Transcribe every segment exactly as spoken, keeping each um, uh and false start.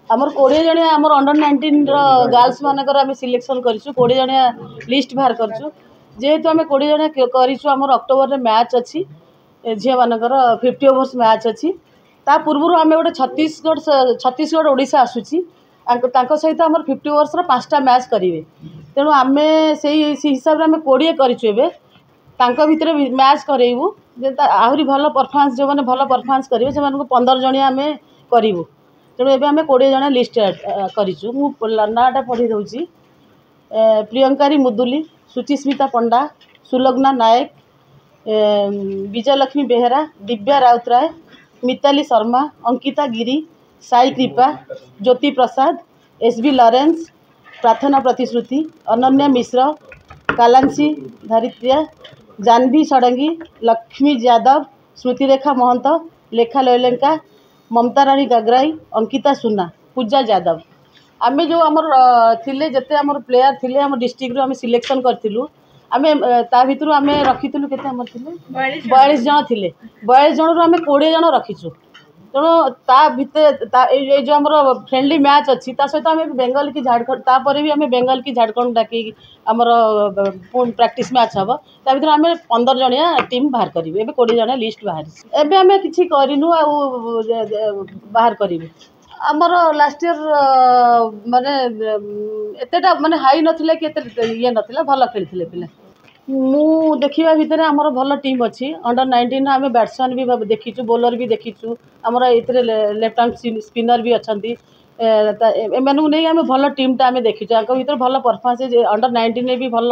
ଆମର କୋଡ଼ିଏ ଜଣିଆ ଆମର ଅଣ୍ଡର ନାଇଣ୍ଟିନ୍ର ଗାର୍ଲସ ମାନଙ୍କର ଆମେ ସିଲେକ୍ସନ୍ କରିଛୁ କୋଡ଼ିଏ ଜଣିଆ ଲିଷ୍ଟ ବାହାର କରିଛୁ ଯେହେତୁ ଆମେ କୋଡ଼ିଏ ଜଣିଆ କରିଛୁ ଆମର ଅକ୍ଟୋବରରେ ମ୍ୟାଚ୍ ଅଛି ଝିଅମାନଙ୍କର ଫିଫ୍ଟି ଓଭର୍ସ ମ୍ୟାଚ୍ ଅଛି ତା ପୂର୍ବରୁ ଆମେ ଗୋଟେ ଛତିଶଗଡ଼ ଛତିଶଗଡ଼ ଓଡ଼ିଶା ଆସୁଛି ତାଙ୍କ ସହିତ ଆମର ଫିଫ୍ଟି ଓଭର୍ସର ପାଞ୍ଚଟା ମ୍ୟାଚ୍ କରିବେ ତେଣୁ ଆମେ ସେଇ ହିସାବରେ ଆମେ କୋଡ଼ିଏ କରିଛୁ ଏବେ ତାଙ୍କ ଭିତରେ ମ୍ୟାଚ୍ କରେଇବୁ ଯେ ଆହୁରି ଭଲ ପରଫର୍ମାନ୍ସ ଯେଉଁମାନେ ଭଲ ପରଫର୍ମାନ୍ସ କରିବେ ସେମାନଙ୍କୁ ପନ୍ଦର ଜଣିଆ ଆମେ କରିବୁ ତେଣୁ ଏବେ ଆମେ କୋଡ଼ିଏ ଜଣିଆ ଲିଷ୍ଟ କରିଛୁ ମୁଁ ନାଁଟା ପଢ଼ି ଦେଉଛି ପ୍ରିୟଙ୍କାରୀ ମୁଦୁଲି ସୁଚିସ୍ମିତା ପଣ୍ଡା ସୁଲଗ୍ନା ନାୟକ ବିଜୟଲକ୍ଷ୍ମୀ ବେହେରା ଦିବ୍ୟା ରାଉତରାୟ ମିତାଲି ଶର୍ମା ଅଙ୍କିତା ଗିରି ସାଇ କୃପା ଜ୍ୟୋତି ପ୍ରସାଦ ଏସ୍ ବି ଲରେନ୍ସ ପ୍ରାର୍ଥନା ପ୍ରତିଶ୍ରୁତି ଅନନ୍ୟା ମିଶ୍ର କାଲାଂଶୀ ଧରିତ୍ରିଆ ଜାହ୍ନବୀ ଷଡ଼ଙ୍ଗୀ ଲକ୍ଷ୍ମୀ ଯାଦବ ସ୍ମୃତିରେଖା ମହନ୍ତ ଲେଖା ଲୈଲେଙ୍କା ମମତାରାଣୀ ଗାଗରାଇ ଅଙ୍କିତା ସୁନା ପୂଜା ଯାଦବ ଆମେ ଯେଉଁ ଆମର ଥିଲେ ଯେତେ ଆମର ପ୍ଲେୟାର ଥିଲେ ଆମ ଡିଷ୍ଟ୍ରିକ୍ଟରୁ ଆମେ ସିଲେକ୍ସନ୍ କରିଥିଲୁ ଆମେ ତା ଭିତରୁ ଆମେ ରଖିଥିଲୁ କେତେ ଆମର ଥିଲେ ବୟାଳିଶ ଜଣ ଥିଲେ ବୟାଳିଶ ଜଣରୁ ଆମେ କୋଡ଼ିଏ ଜଣ ରଖିଛୁ ତେଣୁ ତା ଭିତରେ ତା ଏଇ ଏଇ ଯେଉଁ ଆମର ଫ୍ରେଣ୍ଡଲି ମ୍ୟାଚ୍ ଅଛି ତା ସହିତ ଆମେ ବେଙ୍ଗଲ କି ଝାଡ଼ଖଣ୍ଡ ତାପରେ ବି ଆମେ ବେଙ୍ଗଲ କି ଝାଡ଼ଖଣ୍ଡ ଡାକିକି ଆମର ପୁଣି ପ୍ରାକ୍ଟିସ୍ ମ୍ୟାଚ୍ ହେବ ତା ଭିତରେ ଆମେ ପନ୍ଦର ଜଣିଆ ଟିମ୍ ବାହାର କରିବୁ ଏବେ କୋଡ଼ିଏ ଜଣିଆ ଲିଷ୍ଟ ବାହାରିଛି ଏବେ ଆମେ କିଛି କରିନୁ ଆଉ ବାହାର କରିବୁ ଆମର ଲାଷ୍ଟ ଇୟର୍ ମାନେ ଏତେଟା ମାନେ ହାଇ ନଥିଲା କି ଏତେ ଇଏ ନଥିଲା ଭଲ ଖେଳିଥିଲେ ପିଲା ମୁଁ ଦେଖିବା ଭିତରେ ଆମର ଭଲ ଟିମ୍ ଅଛି ଅଣ୍ଡର ନାଇଣ୍ଟିନ୍ ଆମେ ବ୍ୟାଟ୍ସମ୍ୟାନ୍ ବି ଦେଖିଛୁ ବୋଲର୍ ବି ଦେଖିଛୁ ଆମର ଏଥିରେ ଲେଫ୍ଟ ଆର୍ମ ସ୍ପିନର୍ ବି ଅଛନ୍ତି ଏମାନଙ୍କୁ ନେଇ ଆମେ ଭଲ ଟିମ୍ଟା ଆମେ ଦେଖିଛୁ ୟାଙ୍କ ଭିତରେ ଭଲ ପରଫର୍ମାନ୍ସ ଅଣ୍ଡର ନାଇଣ୍ଟିନ୍ରେ ବି ଭଲ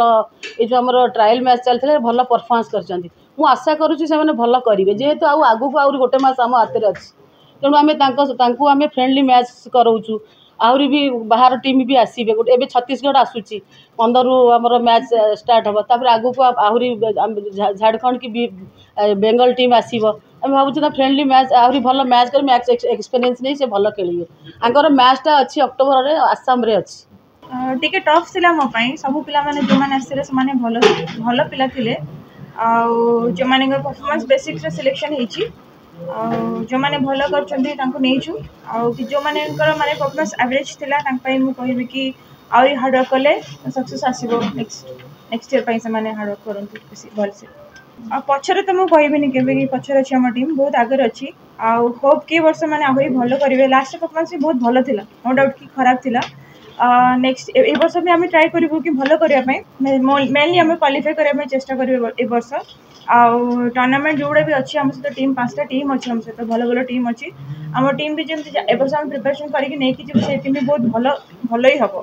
ଏଇ ଯେଉଁ ଆମର ଟ୍ରାଏଲ୍ ମ୍ୟାଚ୍ ଚାଲିଥିଲା ଭଲ ପରଫର୍ମାନ୍ସ କରିଛନ୍ତି ମୁଁ ଆଶା କରୁଛି ସେମାନେ ଭଲ କରିବେ ଯେହେତୁ ଆଉ ଆଗକୁ ଆହୁରି ଗୋଟେ ମାସ ଆମ ହାତରେ ଅଛି ତେଣୁ ଆମେ ତାଙ୍କ ତାଙ୍କୁ ଆମେ ଫ୍ରେଣ୍ଡଲି ମ୍ୟାଚ୍ କରାଉଛୁ ଆହୁରି ବି ବାହାର ଟିମ୍ ବି ଆସିବେ ଗୋଟେ ଏବେ ଛତିଶଗଡ଼ ଆସୁଛି ପନ୍ଦରରୁ ଆମର ମ୍ୟାଚ୍ ଷ୍ଟାର୍ଟ ହେବ ତାପରେ ଆଗକୁ ଆହୁରି ଝାଡ଼ଖଣ୍ଡ କି ବେଙ୍ଗଲ ଟିମ୍ ଆସିବ ଆମେ ଭାବୁଛୁ ନା ଫ୍ରେଣ୍ଡଲି ମ୍ୟାଚ୍ ଆହୁରି ଭଲ ମ୍ୟାଚ୍ କରି ମ୍ୟାଚ୍ ଏକ୍ସପିରିଏନ୍ସ ନେଇ ସେ ଭଲ ଖେଳିବେ ୟାଙ୍କର ମ୍ୟାଚ୍ଟା ଅଛି ଅକ୍ଟୋବରରେ ଆସାମରେ ଅଛି ଟିକେ ଟଫ୍ ଥିଲା ମୋ ପାଇଁ ସବୁ ପିଲାମାନେ ଯେଉଁମାନେ ଆସିଥିଲେ ସେମାନେ ଭଲ ଭଲ ପିଲା ଥିଲେ ଆଉ ଯେଉଁମାନଙ୍କର ପରଫର୍ମାନ୍ସ ବେସିସ୍ରେ ସିଲେକ୍ସନ୍ ହେଇଛି ଆଉ ଯେଉଁମାନେ ଭଲ କରିଛନ୍ତି ତାଙ୍କୁ ନେଇଛୁ ଆଉ ଯେଉଁମାନଙ୍କର ମାନେ ପରଫର୍ମାନ୍ସ ଆଭରେଜ୍ ଥିଲା ତାଙ୍କ ପାଇଁ ମୁଁ କହିବି କି ଆହୁରି ହାର୍ଡ଼ୱାର୍କ କଲେ ସକ୍ସେସ୍ ଆସିବ ନେକ୍ସଟ ନେକ୍ସଟ ଇୟର୍ ପାଇଁ ସେମାନେ ହାର୍ଡ଼ୱାର୍କ କରନ୍ତୁ ବେଶୀ ଭଲସେ ଆଉ ପଛରେ ତ ମୁଁ କହିବିନି କେବେ କି ପଛରେ ଅଛି ଆମ ଟିମ୍ ବହୁତ ଆଗରେ ଅଛି ଆଉ ହୋପ୍ କି ଏ ବର୍ଷ ମାନେ ଆହୁରି ଭଲ କରିବେ ଲାଷ୍ଟ ପରଫର୍ମାନ୍ସ ବି ବହୁତ ଭଲ ଥିଲା ନୋ ଡାଉଟ୍ କି ଖରାପ ଥିଲା ନେକ୍ସଟ ଏ ବର୍ଷ ବି ଆମେ ଟ୍ରାଏ କରିବୁ କି ଭଲ କରିବା ପାଇଁ ମେନଲି ଆମେ କ୍ୱାଲିଫାଏ କରିବା ପାଇଁ ଚେଷ୍ଟା କରିବୁ ଏ ବର୍ଷ ଆଉ ଟୁର୍ଣ୍ଣାମେଣ୍ଟ ଯେଉଁଗୁଡ଼ା ବି ଅଛି ଆମ ସହିତ ଟିମ୍ ପାଞ୍ଚଟା ଟିମ୍ ଅଛି ଆମ ସହିତ ଭଲ ଭଲ ଟିମ୍ ଅଛି ଆମ ଟିମ୍ ବି ଯେମିତି ଏ ବର୍ଷ ଆମେ ପ୍ରିପାରେସନ୍ କରିକି ନେଇକି ଯିବୁ ସେ ଟିମ୍ ବି ବହୁତ ଭଲ ଭଲ ହିଁ ହେବ